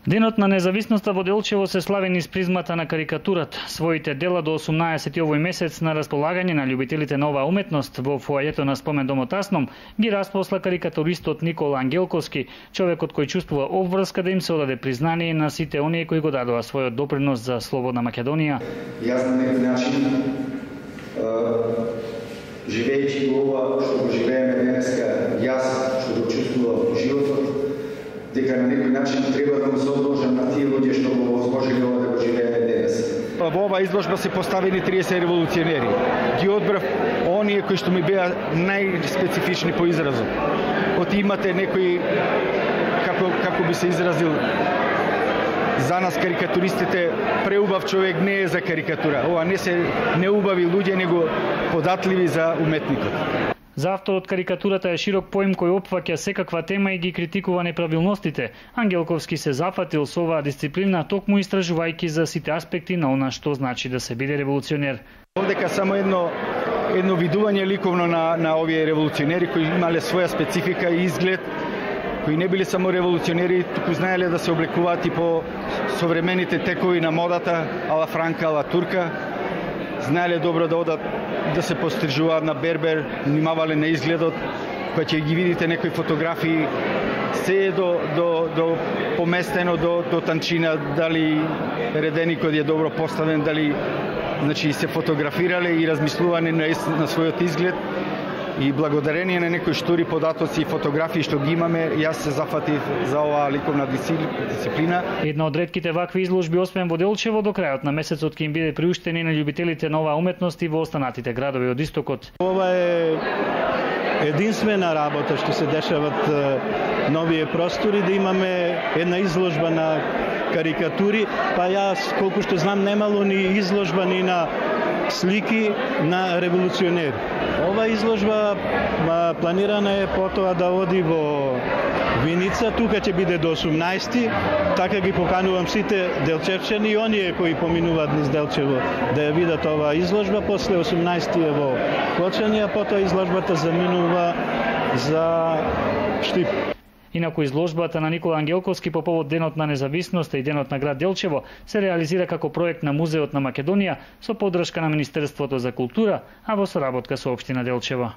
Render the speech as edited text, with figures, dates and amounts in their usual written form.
Денот на независноста во Делчево се слави низ призмата на карикатурата. Своите дела до 18 овој месец на располагање на љубителите на оваа уметност во фоајето на Спомен домот Асном ги распосла карикатуристот Никола Ангелковски, човекот кој чувствува обврска да им се одаде признание на сите оние кои го дадоа својот допринос за слободна Македонија. Јас на некој начин, живејќи го ова што го живееме денеска, јас што го чувствувам во животот, дека на некој начин треба да му се одложам на тие луѓе што го возможиле ова да го живееме денес. Во оваа изложба се поставени 30 револуционери. Ги одбрав оние кои што ми беа најспецифични по изразот. Оти имате некои, како би се изразил, за нас карикатуристите преубав човек не е за карикатура. Ова не се неубави луѓе, него податливи за уметникот. За авторот карикатурата е широк поим кој опфаќа секаква тема и ги критикува неправилностите. Ангелковски се зафатил со оваа дисциплина токму истражувајќи за сите аспекти на она што значи да се биде револуционер. Овдека само едно видување ликовно на овие револуционери кои имале своја специфика и изглед, кои не биле само револуционери, туку знаеле да се облекуваат и по современите текови на модата, ала франка, ала турка. Знаеле добро да одат да се пострижуваат на бербер, внимавале на изгледот, кога ќе ги видите некои фотографии, се е до поместено до танчина, дали реденикот е добро поставен, дали се фотографирале и размислуване на својот изглед. И благодарение на некои штури податоци и фотографии што ги имаме, јас се зафатив за оваа ликовна дисциплина. Една од ретките вакви изложби освен во Делчево до крајот на месецот ќе им биде приуштени на љубителите на оваа уметност и во останатите градови од истокот. Ова е единствена работа што се дешават на овие простори, да имаме една изложба на карикатури, па јас колку што знам немало ни изложба ни на слики на револуционери. Ова изложба планирана е потоа да оди во Виница, тука ќе биде до 18-ти, така ги поканувам сите делчевчани и оние кои поминуваат низ Делчево да ја видат оваа изложба, после 18-ти е во Клочани, а потоа изложбата заминува за Штип. Инаку изложбата на Никола Ангелковски по повод Денот на независноста и Денот на град Делчево се реализира како проект на Музеот на Македонија со поддршка на Министерството за култура, а во соработка со општина Делчево.